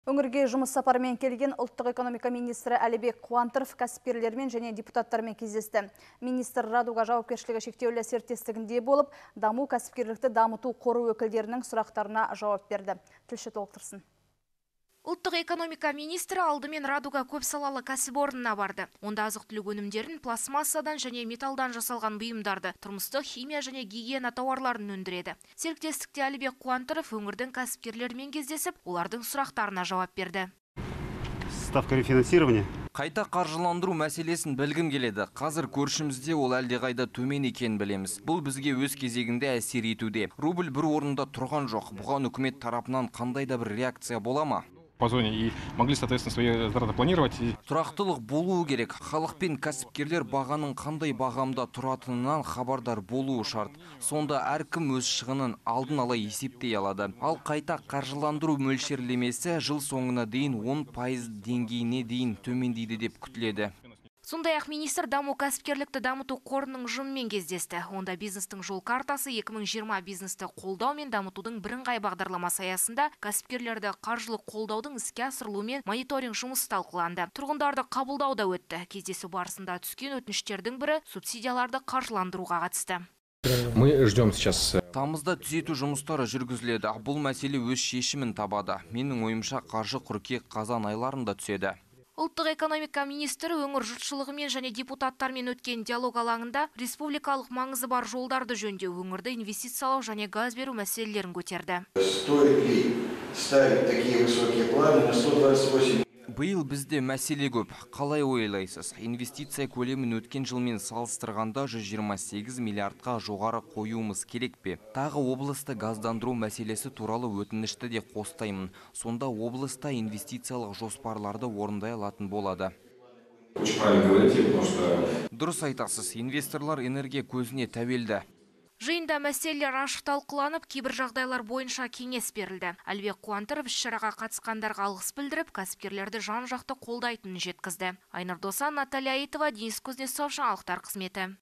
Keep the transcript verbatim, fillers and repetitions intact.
Өңірге жұмыс сапарымен келген ұлттық экономика министрі Әлібек Қуантыров кәсіпкерлермен және депутаттармен кездесті. Министр Радуга жауапкершілігі шектеулі серіктестігінде болып, даму кәсіпкерлікті дамыту қоры өкілдерінің сұрақтарына жауап берді. Тілші толықтырсын. Ұлттық экономика министрі алдымен Радуга көпсалалы кәсіпорнына барды. Онда азық-түлік өнімдерін пластмассадан және металдан жасалған бұйымдарды, тұрмыстық химия және гигиена тауарларын өндіреді. Серіктестікте Әлібек Қуантыров өңірдің кәсіпкерлерімен кездесіп, олардың сұрақтарына жауап берді. Ставка рефинансирования. Қайта қаржыландыру мәселесін білгім келеді. Қазір көршімізде ол әлдеқайда төмен екенін білеміз. Бұл бізге өз кезегінде әсер етуде. Рубль бір орында тұрған жоқ. Бұған үкімет тарапынан қандай да бір реакция бола ма? По зоне и могли, соответственно, свои затраты планировать. Тұрақтылық болуы керек. Халық пен кәсіпкерлер бағаның қандай бағамда тұратынынан хабардар болуы шарт. Сонда әркім өз шығынын алдын ала есептей алады. Ал қайта қаржыландыру мөлшерлемесі жыл соңына дейін он пайыз деңгейіне дейін төмендейді деп күтіледі. Сондай-ақ министр даму кәсіпкерлікті дамыту қорының ұжымымен кездесті. Онда бизнестің жол картасы екі мың жиырма бизнесті қолдау мен дамытудың бірыңғай бағдарламасы аясында кәсіпкерлерді қаржылық қолдаудың іске асырылуы мен мониторинг жұмысы талқыланды. Тұрғындарды қабылдау да өтті. Кездесу барысында түскен өтініштердің бірі субсидияларды қаржыландыруға қатысты. Мы ждем сейчас. Тамызда түзету жұмыстары жүргізіледі. Бұл мәселе өз шешімін табады. Менің ойымша қаржы қыркүйек қазан айларында түседі. Ұлттық экономика министрі өңір жұртшылығымен және депутаттармен өткен диалог алаңында республикалық маңызы бар жолдарды жөндеу, өңірді инвестициялау және газ беру мәселелерін көтерді. Стоит ли ставить такие высокие планы на сто двадцать восемь? Биыл бізде мәселе көп. Қалай ойлайсыз? Инвестиция көлемін өткен жылмен салыстырғанда жүз жиырма сегіз миллиардқа жоғары қоюымыз керек пе? Тағы облысты газдандыру мәселесі туралы өтінішті де қостаймын. Сонда облыста инвестициялық жоспарларды орындай алатын болады. Дұрыс айтасыз, инвесторлар энергия көзіне тәуелді. Жиында мәселелер ашық талқыланып, кейбір жағдайлар бойынша кеңес берілді. Әлібек Қуантыров іс-шараға қатысқандарға алғыс білдіріп, кәсіпкерлерді жан-жақты қолдайтынын жеткізді. Айнұр Досан, Наталья Аитова, Денис Кузнецов, жаңалықтар қызметі.